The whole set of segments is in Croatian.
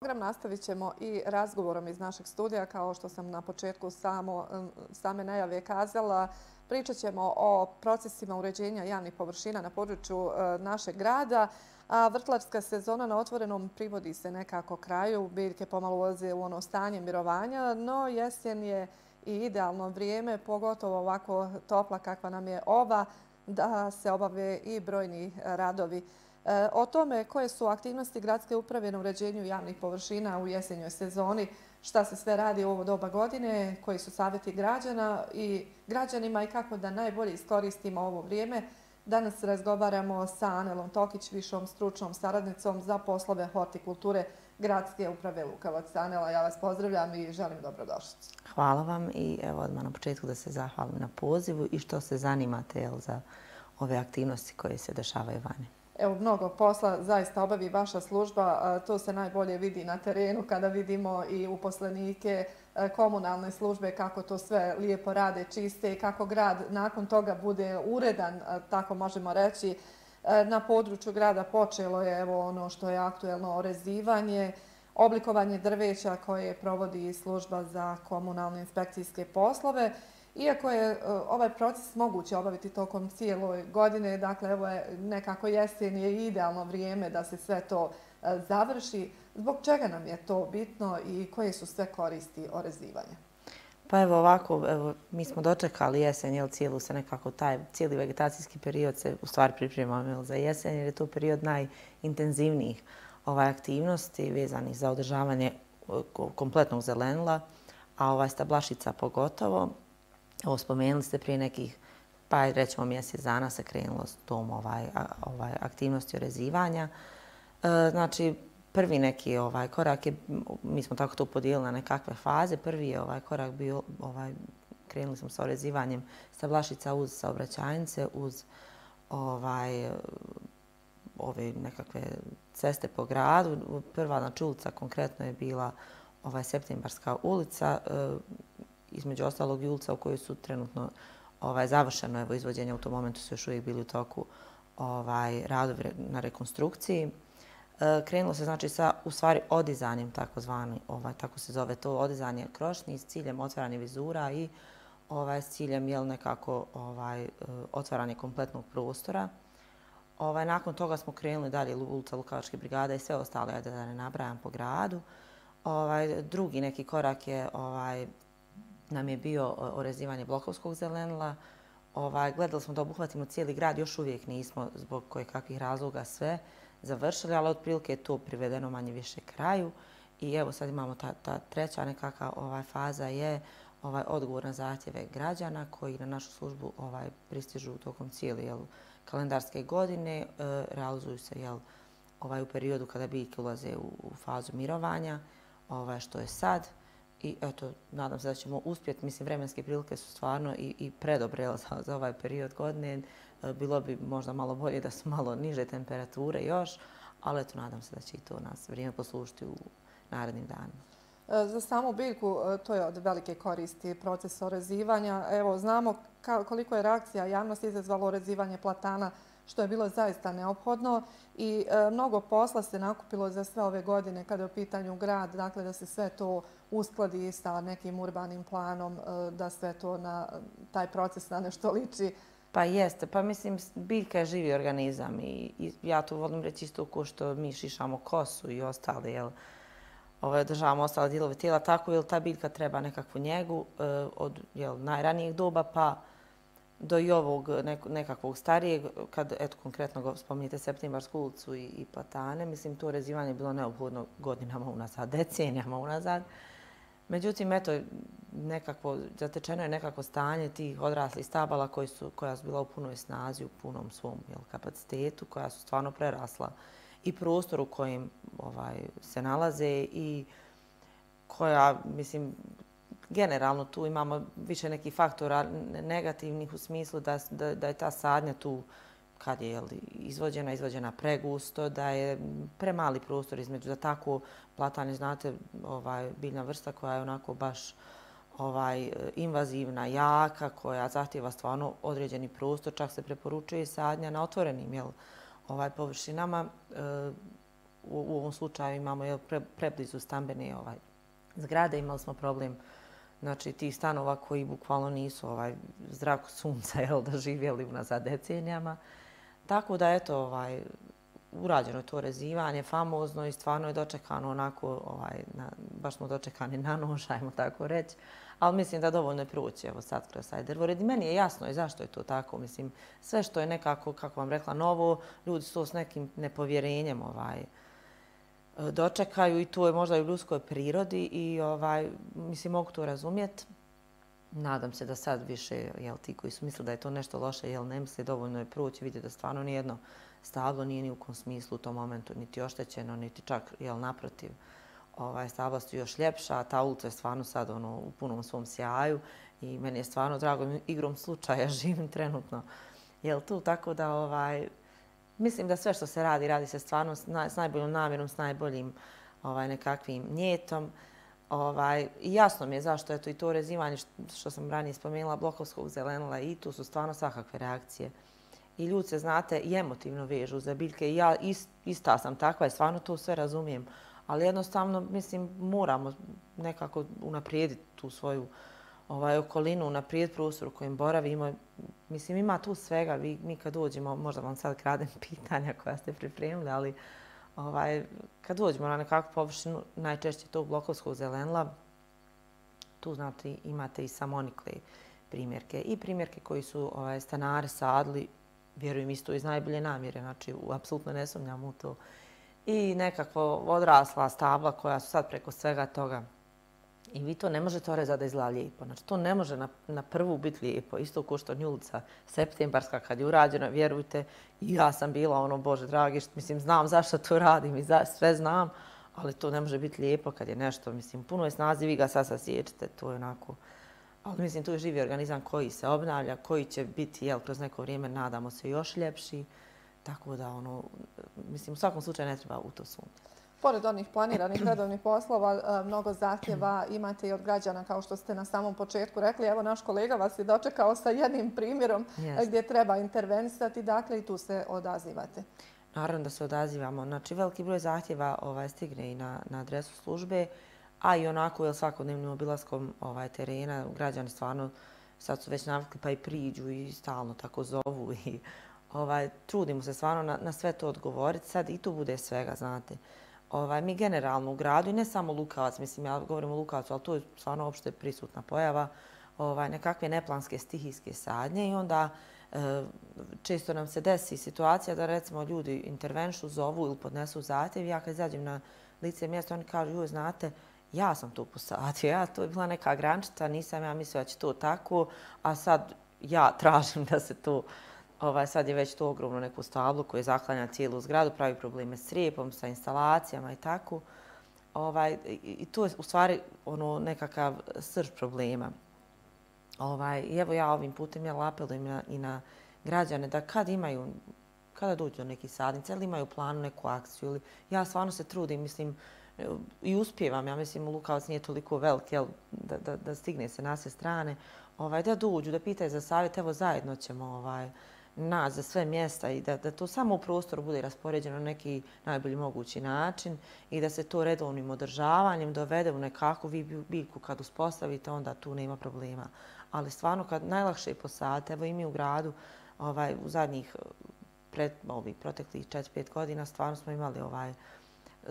Program nastavit ćemo i razgovorom iz našeg studija. Kao što sam na početku same najave kazala, pričat ćemo o procesima uređenja javnih površina na području našeg grada. A vrtlarska sezona na otvorenom privodi se nekako kraju. Biljke pomalo ulaze u ono stanje mirovanja, no jesen je i idealno vrijeme, pogotovo ovako topla kakva nam je ova, da se obave i brojni radovi. O tome koje su aktivnosti gradske uprave na uređenju javnih površina u jesenjoj sezoni, šta se sve radi u ovo doba godine, koji su savjeti građanima i kako da najbolje iskoristimo ovo vrijeme. Danas razgovaramo sa Anelom Tokić, višom stručnom saradnicom za poslove hortikulture gradske uprave Lukavac. Anela, ja vas pozdravljam i želim dobrodošlicu. Hvala vam i evo odmah na početku da se zahvalim na pozivu i što se zanimate za ove aktivnosti koje se dešavaju vani. Evo, mnogo posla zaista obavi vaša služba. To se najbolje vidi na terenu kada vidimo i uposlenike komunalne službe kako to sve lijepo rade, čiste i kako grad nakon toga bude uredan, tako možemo reći. Na području grada počelo je evo ono što je aktuelno orezivanje, oblikovanje drveća koje provodi služba za komunalne inspekcijske poslove. Iako je ovaj proces moguće obaviti tokom cijele godine, dakle evo je nekako jesen je idealno vrijeme da se sve to završi. Zbog čega nam je to bitno i koje su sve koristi orezivanja? Pa evo ovako, mi smo dočekali jesen, cijeli vegetacijski period se u stvari pripremamo za jesen jer je to period najintenzivnijih aktivnosti vezanih za održavanje kompletnog zelenila, a stablašica pogotovo. Ovo spomenuli ste prije nekih, pa rećemo mjesec dana se krenulo s tom aktivnosti orezivanja. Znači, prvi neki korak je, mi smo tako to podijelili na nekakve faze. Prvi je korak bio, krenuli smo sa orezivanjem stablašica uz saobraćajnice, uz ove nekakve ceste po gradu. Prva ulica konkretno je bila Septembarska ulica, između ostalog i ulica u kojoj su trenutno završeno izvođenje, u tom momentu su još uvijek bili u toku radovi na rekonstrukciji. Krenulo se znači sa u stvari odizanjem takozvani, tako se zove to, odizanje krošnji s ciljem otvaranja vizura i s ciljem nekako otvaranje kompletnog prostora. Nakon toga smo krenuli dalje ulica Lukavačke brigade i sve ostale, da ne nabrajam po gradu. Drugi neki korak je nam je bio orezivanje blokovskog zelenila. Gledali smo da obuhvatimo cijeli grad, još uvijek nismo zbog kojekakvih razloga sve završili, ali otprilike je to privedeno manje više kraju. I evo sad imamo ta treća nekakva faza je odgovor na zahtjeve građana koji na našu službu pristižu tokom cijele kalendarske godine. Realizuju se u periodu kada biljke ulaze u fazu mirovanja, što je sad. I eto, nadam se da ćemo uspjeti. Mislim, vremenske prilike su stvarno i predobre za ovaj period godine. Bilo bi možda malo bolje da su malo niže temperature još, ali eto, nadam se da će i to nas vrijeme poslužiti u narednim danima. Za samu biljku to je od velike koristi proces orezivanja. Evo, znamo koliko je reakcija javnosti izazvalo orezivanje platana, što je bilo zaista neophodno i mnogo posla se nakupilo za sve ove godine kada je u pitanju grad, dakle da se sve to uskladi sa nekim urbanim planom, da sve to na taj proces na nešto liči. Pa jeste, pa mislim biljka je živi organizam i ja to volim reći isto ko što mi šišamo kosu i ostale, održavamo ostale dijelove tijela, tako jer ta biljka treba nekakvu njegu od najranijeg doba pa do i ovog nekakvog starijeg, kad eto konkretno spominjete Septembarsku ulicu i platane, mislim to orezivanje je bilo neophodno godinama unazad, decenijama unazad. Međutim, eto, zatečeno je nekako stanje tih odraslih stabala koja su bila u punoj snazi, u punom svom kapacitetu, koja su stvarno prerasla i prostor u kojem se nalaze i koja, mislim, generalno tu imamo više nekih faktora negativnih u smislu da je ta sadnja tu kad je izvođena pregusto, da je premali prostor između da tako platane, znate, biljna vrsta koja je onako baš invazivna, jaka, koja zahtjeva stvarno određeni prostor, čak se preporučuje sadnja na otvorenim površinama. u ovom slučaju imamo preblizu stambene zgrade, imali smo problem znači tih stanova koji bukvalno nisu zraku sunca doživjeli unazad decenijama. Tako da eto, urađeno je to rezivanje, famozno i stvarno je dočekano onako, baš smo dočekani na nož, ajmo tako reći. Ali mislim da dovoljno je proći evo sad kroz taj drvored. I meni je jasno i zašto je to tako. Mislim, sve što je nekako, kako vam rekla, novo, ljudi su to s nekim nepovjerenjem dočekaju i to je možda i u ljudskoj prirodi i mislim, mogu to razumjeti. Nadam se da sad više, ti koji su mislili da je to nešto loše, ne misle, dovoljno je proći, vidjeti da stvarno nijedno stablo nije ni u kom smislu u tom momentu niti oštećeno, niti čak, naprotiv, stabla su još ljepša, a ta ulica je stvarno sad u punom svom sjaju i meni je stvarno drago, igrom slučaja živim trenutno tu, tako da mislim da sve što se radi, radi se stvarno s najboljom namjerom, s najboljim nekakvim njetom. I jasno mi je zašto je i to rezivanje što sam ranije spomenula blokovskog zelenila i tu su stvarno svakakve reakcije. I ljudi se, znate, i emotivno vežu za biljke i ja ista sam takva i stvarno to sve razumijem. Ali jednostavno, mislim, moramo nekako unaprijediti tu svoju okolinu, unaprijediti prostor u kojem boravimo. Mislim, ima tu svega. Mi kad dođemo, možda vam sad kradem pitanja koja ste pripremili, ali kad dođemo na nekakvu površinu, najčešće tog blokovskog zelenila, tu znate, imate i samonikle primjerke. I primjerke koji su stanari sadili, vjerujem isto iz najbolje namjere, znači apsolutno ne sumnjam u to. I nekako odrasla stabla koja su sad preko svega toga. I vi to ne možete orezati da izgleda lijepo. Znači, to ne može na prvu biti lijepo. Isto kao što Njulca septembarska kad je urađena, vjerujte, i ja sam bila Bože dragi, mislim, znam zašto to radim i sve znam, ali to ne može biti lijepo kad je nešto, mislim, puno je snazi, vi ga sad sasiječete, to je onako. Ali mislim, tu je živi organizam koji se obnavlja, koji će biti, kroz neko vrijeme, nadamo se, još ljepši. Tako da, mislim, u svakom slučaju ne treba u to sumnjati. Pored onih planiranih redovnih poslova, mnogo zahtjeva imate i od građana, kao što ste na samom početku rekli. Evo, naš kolega vas je dočekao sa jednim primjerom gdje treba intervenisati, dakle, i tu se odazivate. Naravno da se odazivamo. Znači, veliki broj zahtjeva stigne i na adresu službe, a i onako svakodnevnim obilaskom terena građani stvarno sad su već navikli pa i priđu i stalno tako zovu i trudimo se stvarno na sve to odgovoriti. Sad i tu bude svega, znate. Mi generalno u gradu, i ne samo Lukavac, mislim, ja govorim o Lukavcu, ali to je stvarno opšte prisutna pojava, nekakve neplanske stihijske sadnje i onda često nam se desi situacija da recimo ljudi intervenšu, zovu ili podnesu zahtjev. Ja kad izađem na lice mjesta, oni kažu, joj, znate, ja sam to posadio, to je bila neka grančica, nisam ja mislila da će to tako, a sad ja tražim da se to, sad je već to ogromno neku stablu koje zaklanja cijelu zgradu, pravi probleme s rijepom, sa instalacijama i tako. I to je u stvari nekakav srž problema. I evo ja ovim putem apelujem i na građane da kada dođu do nekih sadnica ili imaju planu neku akciju, ili ja stvarno se trudim, mislim, i uspijevam, ja mislim, Lukavac nije toliko velik, da stigne se na sve strane, da dođu, da pitaju za savjet, evo zajedno ćemo naći za sve mjesta i da to samo u prostoru bude raspoređeno na neki najbolji mogući način i da se to redovnim održavanjem dovede u nekakvu biljku kad uspostavite, onda tu nema problema. Ali stvarno kad najlakše je posaditi, evo i mi u gradu u zadnjih proteklih 4-5 godina stvarno smo imali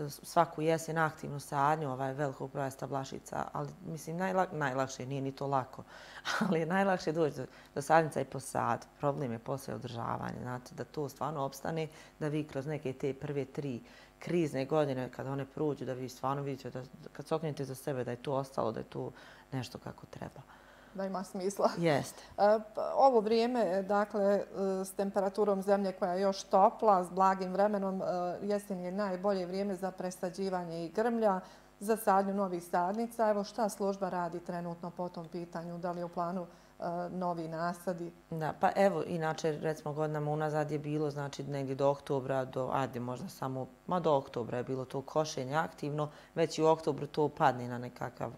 svaku jesen aktivnu sadnju velikog broja stablašica, ali mislim najlakše, nije ni to lako, ali je najlakše doći do sadnica i posad. Problem je posle održavanje, znate, da to stvarno opstane, da vi kroz neke te prve 3 krizne godine, kada one prođu, da vi stvarno vidite, da kad se okrenete za sebe, da je to ostalo, da je to nešto kako treba. Da ima smisla. Jeste. Ovo vrijeme, dakle, s temperaturom zemlje koja je još topla, s blagim vremenom, jesen je najbolje vrijeme za presađivanje i grmlja, za sadnju novih sadnica. Evo šta služba radi trenutno po tom pitanju? Da li je u planu novi nasadi? Da, pa evo, inače, recimo godinama unazad je bilo, znači, negdje do oktobra, možda samo, do oktobra je bilo to košenje aktivno, već i u oktobru to padne na nekakav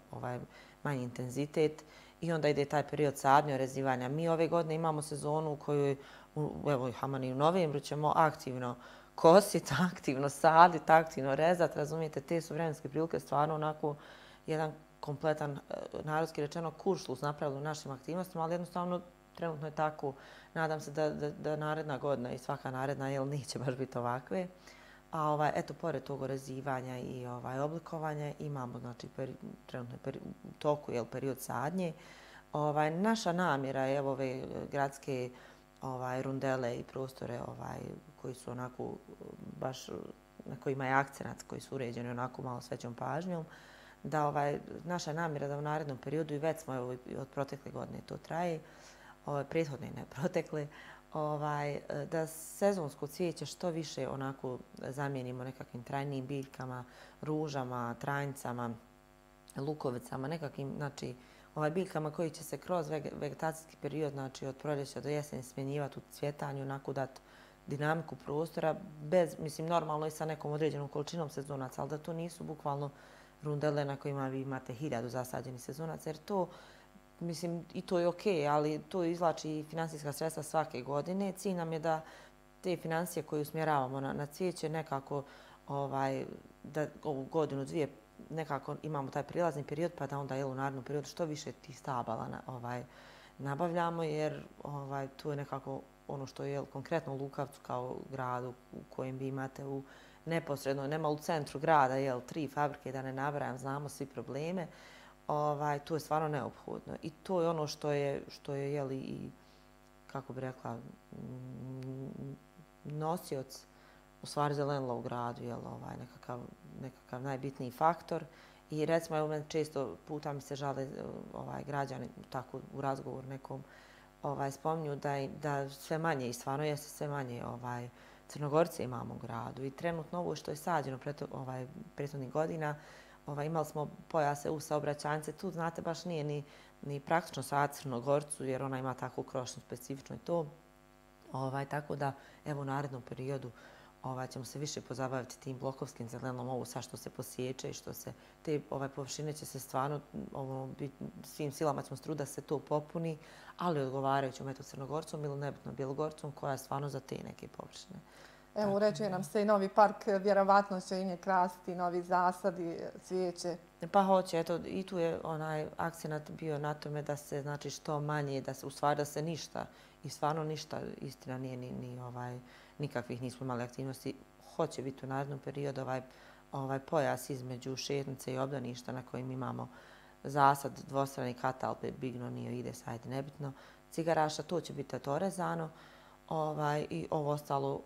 manji intenzitet. I onda ide taj period sadnje, rezivanja. Mi ove godine imamo sezonu u kojoj, evo i Haman i u novembru ćemo aktivno kositi, aktivno saditi, aktivno rezati, razumijete, te su vremenske prilike stvarno onako jedan kompletan, narodski rečeno, kuršlus napravili u našim aktivnostima, ali jednostavno trenutno je tako. Nadam se da naredna godina i svaka naredna neće baš biti ovakve. A eto, pored tog orezivanja i oblikovanja imamo, znači, trenutno je u toku period sadnje. Naša namjera je ove gradske rundele i prostore koji su onako baš na kojima je akcenat, koji su uređeni onako malo s većom pažnjom, da naša namjera da u narednom periodu, i već smo od protekle godine to traje, prethodne ne protekle, da sezonsko cvijeće što više onako zamijenimo nekakvim trajnim biljkama, ružama, tranjicama, lukovicama, nekakvim, znači, biljkama koji će se kroz vegetacijski period, znači od proljeća do jeseni smjenjivati u cvjetanju, onako dati dinamiku prostora, mislim, normalno i sa nekom određenom količinom sezonaca, ali da to nisu bukvalno rundele na kojima vi imate 1000 zasađenih sezonaca, jer to, mislim, i to je okej, ali to izvlači i finansijska sredstva svake godine. Cilj nam je da te financije koje usmjeravamo na cvijeće nekako da ovu godinu, dvije, nekako imamo taj prilazni period, pa da onda u narednom periodu što više tih stabala nabavljamo, jer tu je nekako ono što je konkretno u Lukavcu kao gradu u kojem vi imate neposredno, nema u centru grada, 3 fabrike, da ne nabrajam, znamo svi probleme. Tu je stvarno neophodno. I to je ono što je i, kako bi rekla, nosioc u stvari zelenila u gradu, nekakav najbitniji faktor. I recimo, evo, često puta mi se žale građani, tako u razgovoru nekom, spominju da sve manje, i stvarno jeste sve manje, Crnogorce imamo u gradu. I trenutno ovo što je sađeno prethodnih godina, imali smo pojase u saobraćajnice, tu znate baš nije ni praktično sad Crnogorcu, jer ona ima takvu krošnju specifično i to. Tako da, evo, u narednom periodu ćemo se više pozabaviti tim blokovskim zelenilom, ovo sad što se posječe i što se, te površine će se stvarno, svim silama ćemo struditi da se to popuni, ali odgovarajućom Crnogorcom ili nebitno Bjelogorcom, koja je stvarno za te neke površine. Evo, uređuje nam se i novi park, vjerovatno će i nje krasiti, novi zasadi, cvijeće. Pa hoće, eto, i tu je onaj akcenat bio na tome da se, znači, što manje, u stvari da se ništa, i stvarno ništa, istina nije nikakvih nismo imali aktivnosti. Hoće biti u narednom periodu ovaj pojas između šetnice i obdaništa na kojim imamo zasad, dvostrani katalpe, bignonio, ide, sajde, nebitno, cigaraša, to će biti orezano. I ovo ostalo,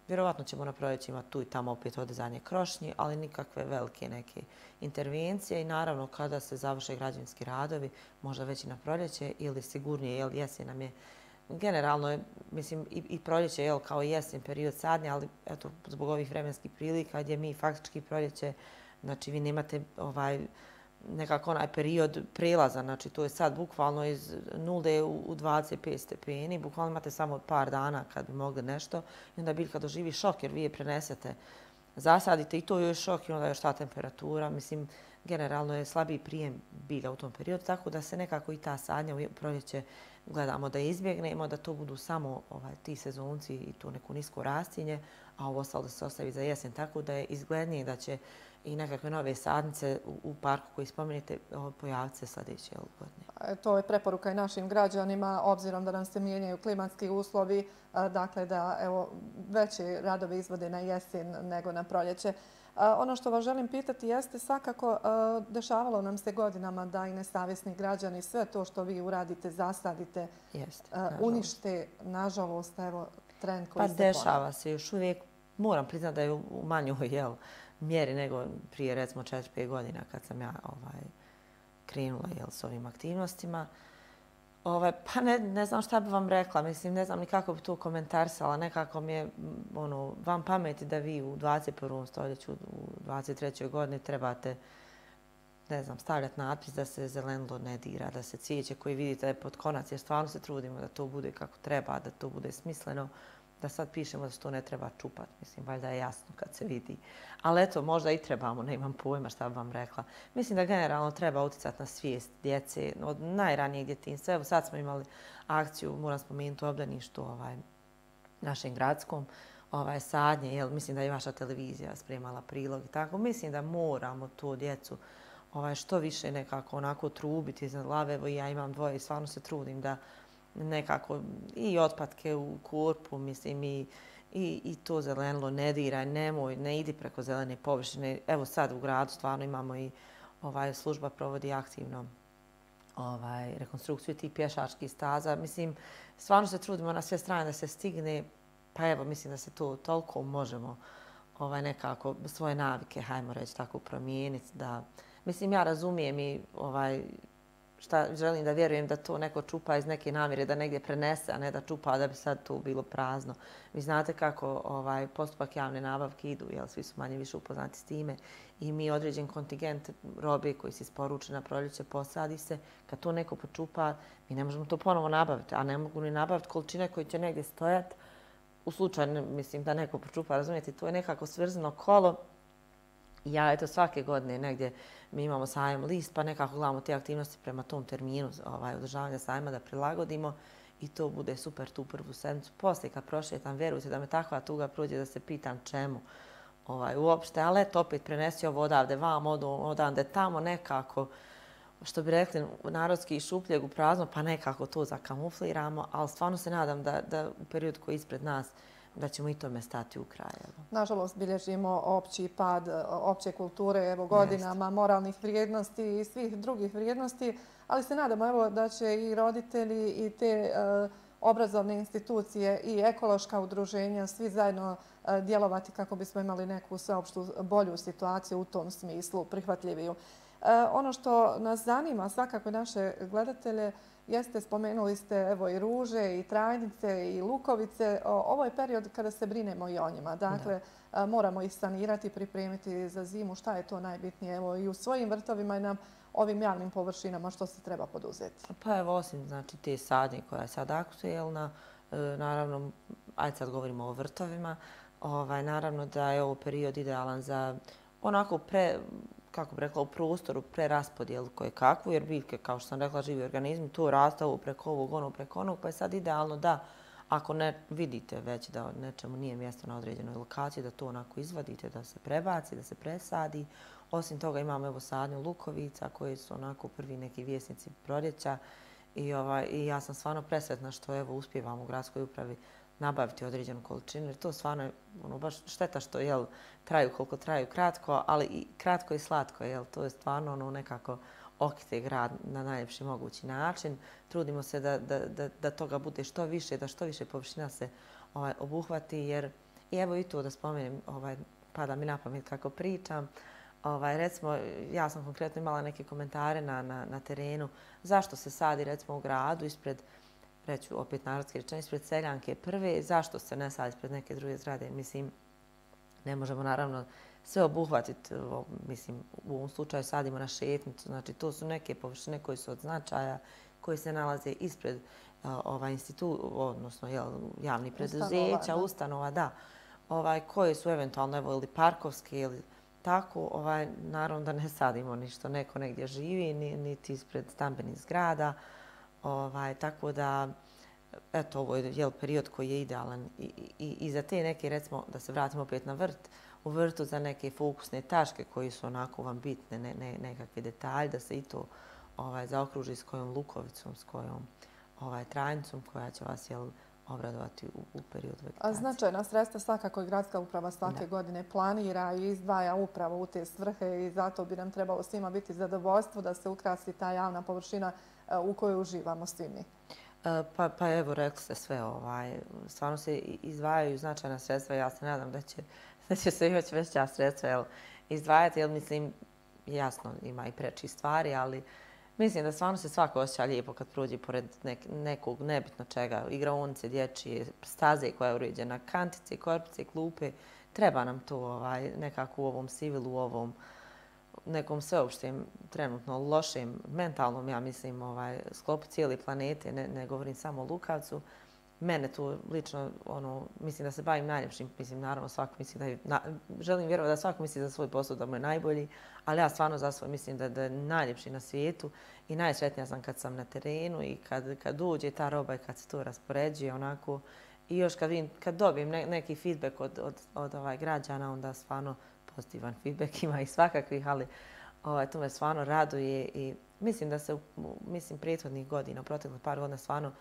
vjerovatno ćemo na proljeće imati tu i tamo opet odrezanje krošnji, ali nikakve velike neke intervencije i naravno kada se završe građevinski radovi, možda već i na proljeće ili sigurnije, jer jesen nam je generalno, mislim, i proljeće kao i jesen period sadnje, ali eto, zbog ovih vremenskih prilika gdje mi faktički proljeće, znači vi nemate nekako onaj period prelaza, znači to je sad bukvalno iz 0 u 25 stepeni, bukvalno imate samo par dana kad bi mogli nešto i onda biljka doživi šok jer vi je prenesete, zasadite i to je šok i onda još ta temperatura, mislim, generalno je slabiji prijem bilja u tom periodu, tako da se nekako i ta sadnja u proljeće gledamo da izbjegnemo, da to budu samo ti sezonci i to neko nisko rastinje, a ovo ostalo da se ostavi za jesen, tako da je izglednije da će i nekakve nove sadnice u parku koji spomenete pojaviti se sljedeće godine. To je preporuka i našim građanima, obzirom da nam se mijenjaju klimatski uslovi, dakle da veće radove izvode na jesen nego na proljeće. Ono što vas želim pitati jeste svakako dešavalo nam se godinama da i nesavjesni građani sve to što vi uradite, zasadite, unište, nažalost, trend koji se ponavlja. Pa dešava se još uvijek, moram priznati da je u manjoj mjeri nego prije recimo 4-5 godina kad sam ja krenula s ovim aktivnostima. Pa ne znam šta bi vam rekla, mislim, ne znam ni kako bi to komentarisala. Nekako mi je van pameti da vi u 21. stoljeću, u 23. godini trebate, ne znam, stavljati natpis da se zelenilo ne dira, da se cvijeće koje vidite pod konac, jer stvarno se trudimo da to bude kako treba, da to bude smisleno, da sad pišemo da se to ne treba čupati. Mislim, valjda je jasno kad se vidi. Ali eto, možda i trebamo, ne imam pojma šta bi vam rekla. Mislim da generalno treba uticati na svijest djece od najranijeg djetinjstva. Evo sad smo imali akciju, moram spomenuti u obdaništu našem gradskom, sadnje, jer mislim da je vaša televizija spremala prilog i tako. Mislim da moramo tu djecu što više nekako onako trubiti iznad glave. Evo ja imam dvoje i stvarno se trudim da nekako i otpadke u korpu, mislim i to zelenilo ne diraj, nemoj, ne idi preko zelene površine. Evo sad u gradu stvarno imamo i služba provodi aktivno rekonstrukciju tih pješačkih staza. Mislim, stvarno se trudimo na sve strane da se stigne, pa evo, mislim da se to toliko možemo nekako svoje navike, hajmo reći tako, promijeniti. Mislim, ja razumijem i šta želim da vjerujem da to neko čupa iz neke namjere da negdje prenese, a ne da čupa da bi sad to bilo prazno. Vi znate kako postupak javne nabavke idu, jer svi su manje više upoznati s time i mi određen kontingent robe koji se isporuči na proljeće posadi se. Kad to neko počupa, mi ne možemo to ponovo nabaviti, a ne mogu ni nabaviti količine koje će negdje stojati. U slučaju, mislim, da neko počupa, razumijete, to je nekako svrzeno kolo. Ja, eto, svake godine negdje mi imamo sajam list, pa nekako gledamo te aktivnosti prema tom terminu održavanja sajma da prilagodimo i to bude super tu prvu sedmicu. Poslije kad prošetam, vjerujte da me takva tuga prođe da se pitam čemu uopšte, ali eto, opet prenesi ovo odavde vam, odavde tamo nekako, što bi rekli narodski iz šupljeg u prazno, pa nekako to zakamufliramo, ali stvarno se nadam da u periodu koji je ispred nas da ćemo i tome stati u kraj. Nažalost, bilježimo opći pad opće kulture godinama, moralnih vrijednosti i svih drugih vrijednosti, ali se nadamo da će i roditelji i te obrazovne institucije i ekološka udruženja svi zajedno djelovati kako bismo imali neku sveopštu bolju situaciju u tom smislu, prihvatljiviju. Ono što nas zanima, svakako naše gledatelje, jeste, spomenuli ste evo i ruže, i trajnice, i lukovice. Ovo je period kada se brinemo i o njima. Dakle, moramo ih sanirati, pripremiti za zimu. Šta je to najbitnije? Evo i u svojim vrtovima i na ovim javnim površinama što se treba poduzeti? Pa evo, osim znači, te sadnje koja je sad aktuelna, naravno, ajde sad govorimo o vrtovima, naravno da je ovo period idealan za onako kako bi rekla, u prostoru preraspodjelu koje kakvu, jer biljke, kao što sam rekla, živi organizmi, to rastavu preko ovog, preko onog, pa je sad idealno da, ako ne vidite već da nečemu nije mjesto na određenoj lokaciji, da to onako izvadite, da se prebaci, da se presadi. Osim toga imamo evo sadnju lukovica koje su onako prvi neki vjesnici proljeća i ja sam stvarno presretna što evo uspijevamo u gradskoj upravi nabaviti određenu količinu, jer to stvarno je baš šteta što traju koliko traju kratko, ali i kratko i slatko, to je stvarno nekako okite grad na najljepši mogući način. Trudimo se da toga bude što više, da što više površina se obuhvati, jer i evo i to da spomenem, pada mi na pamet kako pričam. Recimo, ja sam konkretno imala neke komentare na terenu zašto se sadi recimo u gradu ispred, reću opet narodski rečeno, ispred Seljanke prve, zašto se ne sad ispred neke druge zgrade? Mislim, ne možemo naravno sve obuhvatiti. Mislim, u ovom slučaju sadimo na šetnicu. Znači, to su neke površine koje su od značaja, koje se nalaze ispred odnosno javnih preduzeća, ustanova, da, koje su eventualno ili parkovske ili tako. Naravno da ne sadimo ništo neko negdje živi, niti ispred stambenih zgrada. Tako da, eto, ovo je period koji je idealan i za te neke, recimo, da se vratimo opet na vrt, u vrtu za neke fokusne tačke koji su onako vam bitne, nekakve detalje, da se i to zaokruži s kojom lukovicom, s kojom trajnicom koja će vas obradovati u periodu vegetacije. Značajna sredstva svakako i gradska uprava svake godine planira i izdvaja upravo u te svrhe i zato bi nam trebalo svima biti zadovoljstvo da se ukrasi ta javna površina u kojoj uživamo svi mi. Pa evo, rekli ste sve. Stvarno se izdvajaju značajna sredstva. Ja se nadam da će se još veća sredstva izdvajati, jer mislim, jasno, ima i preči stvari, ali mislim da stvarno se svako osjeća lijepo kad prođe pored nekog nebitno čega, igraonice, dječje, staze koja je uređena, kantice, korpice, klupe. Treba nam to nekako u ovom sivilu, u ovom nekom sveopštem, trenutno lošem, mentalnom, ja mislim, sklopu cijele planete, ne govorim samo o Lukavcu. Mene tu lično, mislim da se bavim najljepšim, mislim, naravno svako misli želim vjerovati da svako misli za svoj posao da mu je najbolji, ali ja stvarno za svoj mislim da je najljepši na svijetu i najsretnija sam kad sam na terenu i kad dođe ta roba i kad se to raspoređuje onako I još kad dobijem neki feedback od građana, onda stvarno pozitivan feedback ima i svakakvih, ali to me stvarno raduje i mislim da se prethodnih godina, proteklih par godina stvarno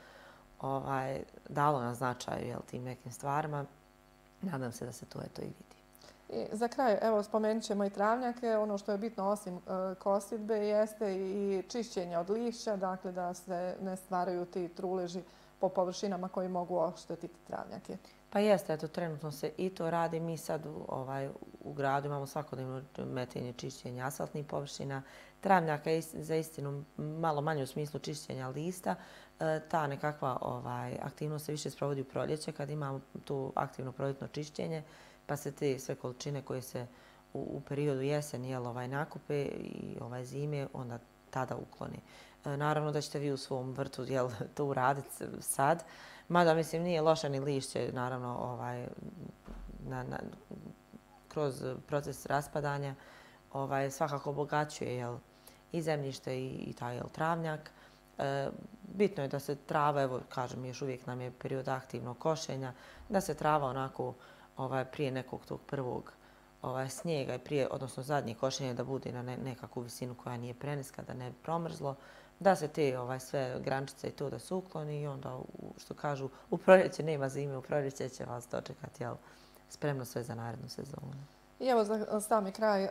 dalo na značaju tim nekim stvarima. Nadam se da se to i vidi. I za kraj, evo, spomenut ćemo i travnjake. Ono što je bitno osim kosidbe jeste i čišćenje od lišća, dakle da se ne stvaraju ti truleži po površinama koji mogu oštetiti travnjake. Pa jeste, eto, trenutno se i to radi. Mi sad u gradu imamo svakodnevno metenje, čišćenje asfaltnih površina. Travnjaka je za istinu malo manje u smislu čišćenja lista. Ta nekakva aktivnost se više sprovodi u proljeće kad imamo tu aktivno proljetno čišćenje, pa se te sve količine koje se u periodu jeseni nakupe i zime, onda tada ukloni. Naravno da ćete vi u svom vrtu to uraditi sad, mada mislim nije loše ni lišće, naravno kroz proces raspadanja svakako obogaćuje i zemljište i taj travnjak. Bitno je da se trava, evo kažem, još uvijek nam je period aktivnog košenja, da se trava onako prije nekog tog prvog snijega i prije, odnosno zadnje košenje da bude na nekakvu visinu koja nije preniska, da ne bi promrzlo, da se te sve grančice i to da se ukloni i onda, što kažu, u proljeće nema zime, u proljeće će vas dočekati spremno sve za narednu sezonu. I evo za sami kraj,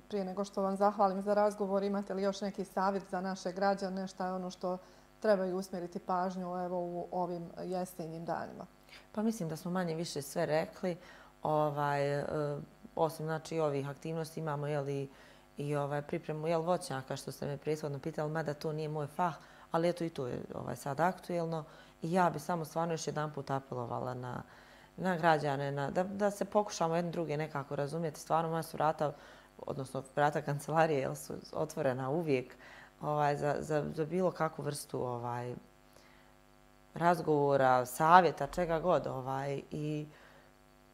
prije nego što vam zahvalim za razgovor, imate li još neki savjet za naše građane, šta je ono što trebaju usmjeriti pažnju u ovim jesenjim danima? Pa mislim da smo manje više sve rekli. Osim znači ovih aktivnosti imamo i pripremu voćnjaka što ste me prethodno pitali, mada to nije moj fah, ali eto i to je sad aktuelno. I ja bi samo stvarno još jedanput apelovala na građane, da se pokušamo jedni druge nekako razumjeti. Stvarno moja su vrata, odnosno vrata kancelarije su otvorena uvijek za bilo kakvu vrstu razgovora, savjeta, čega god. I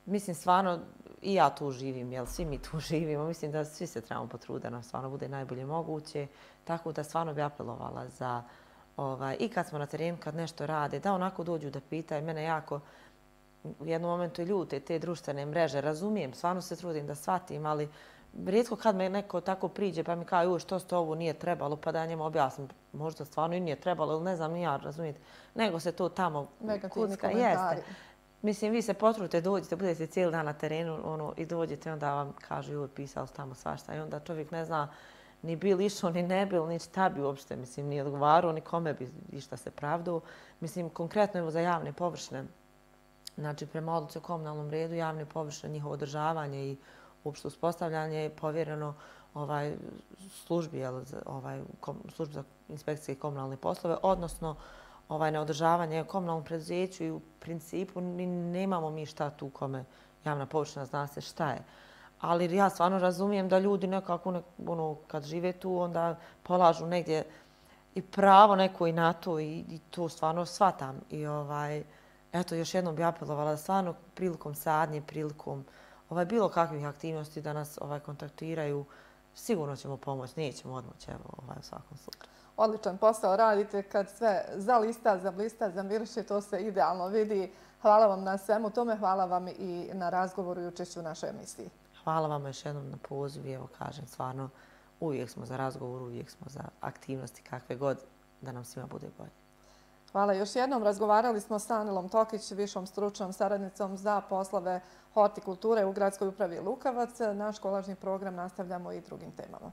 mislim stvarno i ja tu živim, svi mi tu živimo. Mislim da svi se trebamo potruditi da nam stvarno bude najbolje moguće. Tako da stvarno bi apelovala za i kad smo na terenu, kad nešto rade, da onako dođu da pitaju. Mene jako u jednom momentu ljute te društvene mreže. Razumijem, stvarno se trudim da shvatim, ali rijetko kad me neko tako priđe pa mi kao što ste ovo nije trebalo, pa da ja njemu objasnim. Možda stvarno i nije trebalo, ili ne znam ni ja, razumijete. Nego se to tamo kucka. Jeste. Mislim, vi se potrudite, dođete, budete cijeli dan na terenu i dođete, onda vam kažu joj, pisali su tamo svašta. I onda čovjek ne zna ni bil išao, ni ne bil, ni šta bi uopšte, mislim, ni odgovarao, ni kome bi išta se pravdao. Mislim, konkretno evo za javne površine. Znači, prema odluci o komunalnom redu, javne površine, njihovo održavanje i uopšte uspostavljanje je povjereno službi za inspekcije i komunalne poslove, odnosno na održavanje komunalnom preduzeću i u principu nemamo mi šta tu kome javna površina zna se šta je. Ali ja stvarno razumijem da ljudi nekako kad žive tu onda polažu negdje i pravo neko i na to i to stvarno shvatam. I eto, još jednom bi apelovala da stvarno prilikom sadnje, prilikom bilo kakvih aktivnosti da nas kontaktiraju, sigurno ćemo pomoći, nećemo odmoći u svakom slučaju. Odličan posao radite kad sve zalista, zablista, zamiriše, to se idealno vidi. Hvala vam na svemu tome, hvala vam i na razgovoru i učešću u našoj emisiji. Hvala vam još jednom na pozivu. Evo kažem, stvarno uvijek smo za razgovor, uvijek smo za aktivnosti kakve god da nam svima bude bolje. Hvala još jednom. Razgovarali smo sa Anelom Tokić, višom stručnom saradnicom za poslove hortikulture u Gradskoj upravi Lukavac. Naš kolažni program nastavljamo i drugim temama.